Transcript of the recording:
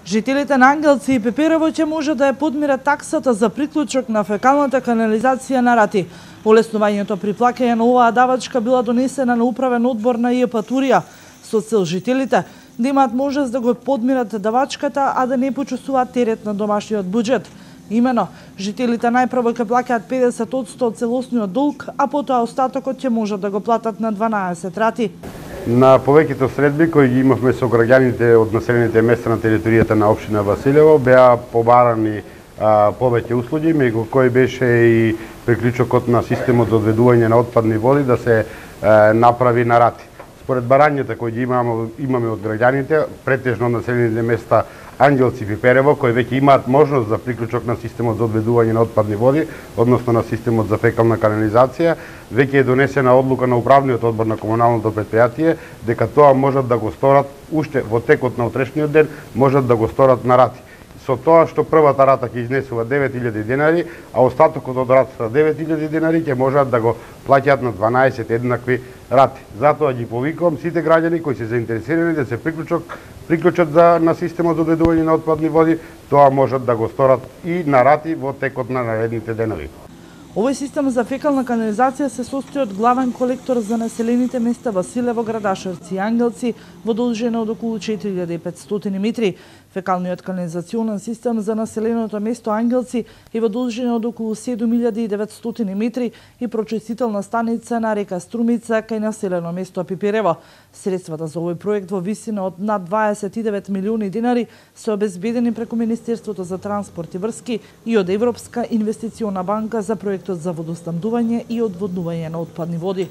Жителите на Ангелци и Пиперево ќе може да ја подмират таксата за приклучок на фекалната канализација на Рати. Олеснувањето при плаќање на оваа давачка била донесена на управен одбор на ИЕП Турија со цел жителите да имаат можност да го подмират давачката, а да не почувствуваат терет на домашниот буџет. Имено, жителите најпрво ќе плаќаат 50% од целосниот долг, а потоа остатокот ќе можат да го платат на 12 рати. На повеќето средби кои ги имавме со граѓаните од населените места на територијата на општина Василево беа побарани повеќе услуги, меѓу кои беше и приклучокот на системот за одведување на отпадни води да се направи на Рати. Според барањата кои ги имаме од граѓаните, претежно населените места Ангелци и Пиперево, кои веќе имаат можност за приклучок на системот за одведување на отпадни води, односно на системот за фекална канализација, веќе е донесена одлука на управниот одбор на комуналното предпријатие дека тоа можат да го сторат уште во текот на утрешниот ден, можат да го сторат на Рати. Со тоа што првата рата ќе изнесува 9000 денари, а остатокот од ратата 9000 денари ќе можат да го плаќаат на 12 еднакви рати. Затоа ги повикувам сите граѓани кои се заинтересирани да се приклучат на системот за одведување на отпадни води, тоа можат да го сторат и на Рати во текот на наредните денови. Овој систем за фекална канализација се состои од главен колектор за населените места Василево, Градашевци и Ангелци во должина од околу 4500 метри. Фекалниот канализационен систем за населеното место Ангелци е во должина од околу 7900 метри и прочистителна станица на река Струмица кај населено место Пиперево. Средствата за овој проект во висина од над 29 милиони денари се обезбедени преку Министерството за транспорт и врски и од Европска инвестициона банка за проектот за водоснабдување и одводнување на отпадни води.